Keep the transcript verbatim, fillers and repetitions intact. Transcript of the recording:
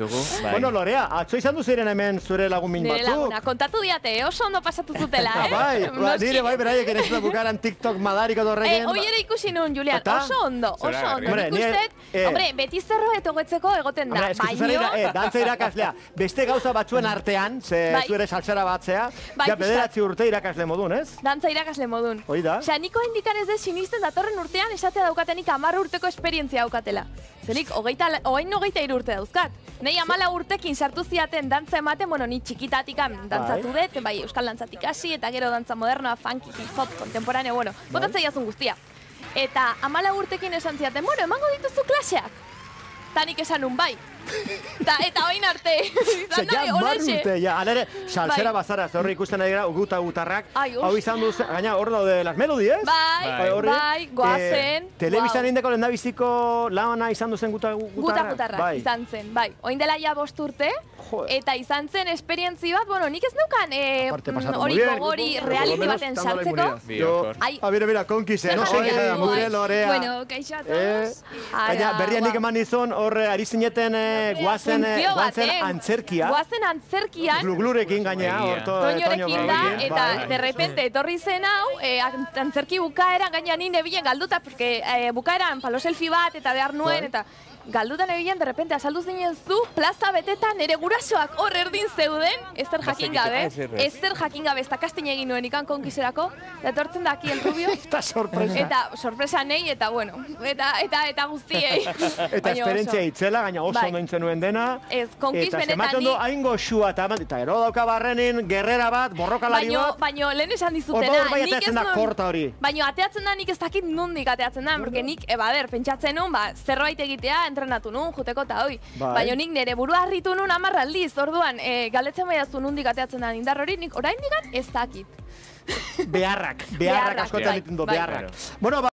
Bai. Bueno, Lorea, atzo izan duziren hemen zure lagun min batzuk. Nire laguna, kontatu diate, oso ondo pasatu zutela, eh? Bai, ba, nire bai beraiek ere ez da bukaran TikTok madariko dorregen. Eh, hoi ere ikusi nun, Julian, oso ondo, oso ondo. Hombre, Nik ustet, eh, hombre, beti zerbait hobetzeko egoten da, Hombre, eskizuzera, baino... eh, dantza irakaslea, beste gauza batzuen artean, ze Bai. zu ere salsera batzea, Bai, ja bederatzi urte irakasle modun, ez? Dantza irakasle modun. Hoi da. Osea, niko indikan ez de sinisten datorren urtean esatea daukatenik hamar urteko esperientzia daukatela. Zenik, hogeita, oain hogeita hiru urte dauzkat. Nei amala urtekin sartu ziaten dantza ematen, bueno, ni txikitatikan dantzatu dut, bai, euskal dantzatik hasi, eta gero dantza modernoa, funky, hip-hop, kontemporaneo, bueno, botatzea jazun guztia. Eta amala urtekin esan ziaten, bueno, emango dituzu klaseak. Ta nik esan nun bai. Ta, eta oin arte, izan nahi, olexe. Urte, ja, alere, salsera Bai. bazara, zorri ikusten nahi gara, guta gutarrak, Ai, hau izan duz, gaina hor daude las melodies. Bai, Bai, horri, bai, goazen. Eh, Telebistan indeko lehendabiziko lana izan duzen guta gutarrak. Guta gutarrak, Bai. izan zen, bai. Oin dela ja bost urte, Joder. eta izan zen esperientzi bat, bueno, nik ez neukan eh, Aparte, pasatu hori muy bien. gogori Por lo reality menos, baten dándole sartzeko. inmunidad. Yo, Ai. ah, mira, mira, konkise, no? Zer Oye, jarri gure bai. Lorea. Bueno, kaixo a Eh, todos. Gaina, berrian nik eman izun, hor ari zineten eh, guazen, eh, Funtzio bat, guazen eh? antzerkia. Guazen antzerkian, Gluglurekin gaina, horto. Toñorekin da, eta bai. de repente etorri zen hau, eh, antzerki bukaeran gaina ni nebilen galduta, porque eh, bukaeran palo selfie bat eta behar nuen, Bai. eta galduta nebilen, de repente azaldu zinen zu, plaza betetan nere gurasoak hor erdin zeuden, ezer jakin gabe, ezer jakin gabe, ez da kastin egin nuen ikan konkiserako, eta etortzen da aquí el rubio, Eta sorpresa. eta sorpresa nei, eta bueno, eta eta eta guztiei. Eta Baina esperientzia oso. itzela, gaina oso Bai. ondo intzen nuen dena. Ez, konkis Eta benetan zematen ni- du haingo xua eta eman, eta gero dauka barrenin, gerrera bat, borrokalari Baino, bat. baino, lehen esan dizutena, Hor bai nik ez ateatzen da nun- korta hori. Baino, ateatzen da nik ez dakit nondik ateatzen da, porque nik, eba, ber, pentsatzen nun, ba, zerbait egitea, entrenatu nun, juteko eta hoi. Bai. Baino nik nire burua harritu nun hamar aldiz, orduan, e, galdetzen baiazu nondik ateatzen da indar hori, nik orain digan ez dakit. Beharrak, beharrak Beharrak, askotan bai, egiten du, bai. beharrak. Bueno, ba-